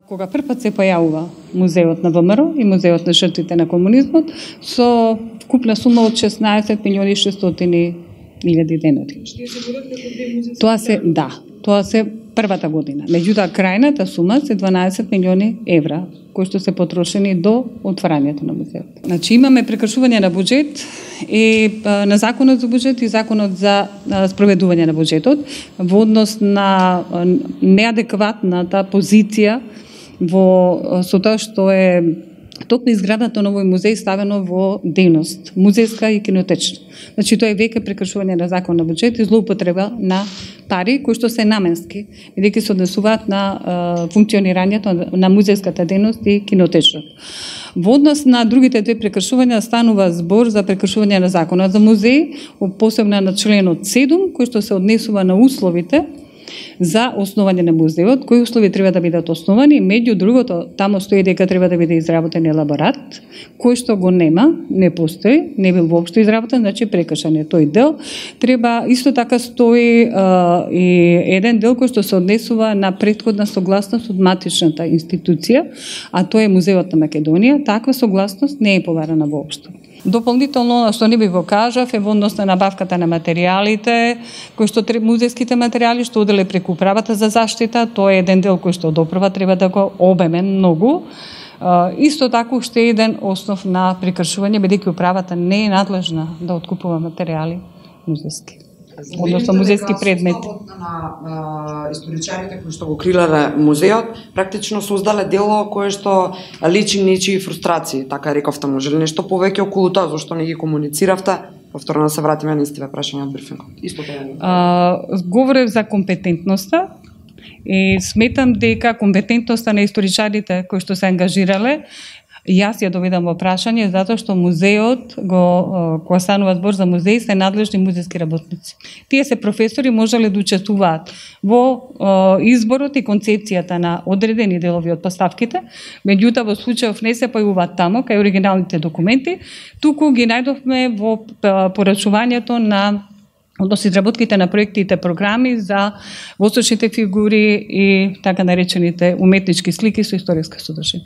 Кога првпат се појавува музеот на ВМРО и музеот на жртвите на комунизмот со вкупна сума од 16.600.000 денари. Тоа се првата година. Меѓутоа крајната сума се 12 милиони евра, кои што се потрошени до отварањето на музеот. Значи имаме прекршување на буџет и на законот за буџет и законот за спроведување на буџетот во однос на неадекватната позиција со тоа што е токму изградата на овој музеј ставено во дејност музејска и кинотечна. Значи тоа е веќе прекршување на закон на буџет и злоупотреба на пари кои што се наменски, бидејќи се однесуваат на функционирањето на музејската дејност и кинотечната. Во однос на другите две прекршувања станува збор за прекршување на законот за музеј, посебно на членот 7 кој што се однесува на условите за основање на музеот, кои услови треба да бидат основани, меѓу другото, таму стои дека треба да биде изработен елаборат, кој што го нема, не постои, не бил воопшто изработен, значи прекршен е тој дел. Треба исто така стои и еден дел кој што се однесува на претходна согласност од матичната институција, а тоа е Музеот на Македонија. Таква согласност не е побарана воопшто. Дополнително, што не би го кажав, е во однос на набавката на материјалите, кои што музејските материјали што оделе преку управата за заштита, тоа е еден дел кој што од управа треба да го обемен многу. Исто така уште еден основ на прекршување, бидејќи управата не е надлежна да откупува материјали музејски. Односно музејски предмети. На историчарите кои што го крилеле музеот, практично создале дело кое што личи нечии фрустрации, така рековте, може ли нешто повеќе околу тоа, зашто не ги комунициравте? Повторно да се вратиме на истиве прашања од брифингот. Исто тоа. Говорев за компетентноста и сметам дека компетентноста на историчарите кои што се ангажирале, јас ја доведам во прашање затоа што музеот кога станува збор за музеј се надлежни музејски работници. Тие се професори, можеле да учествуваат во изборот и концепцијата на одредени делови од поставките, меѓутоа во случајов не се појавуваат таму кај оригиналните документи, туку ги најдовме во порачувањето на односно изработките на проектите програми за восточните фигури и така наречените уметнички слики со историска содржина.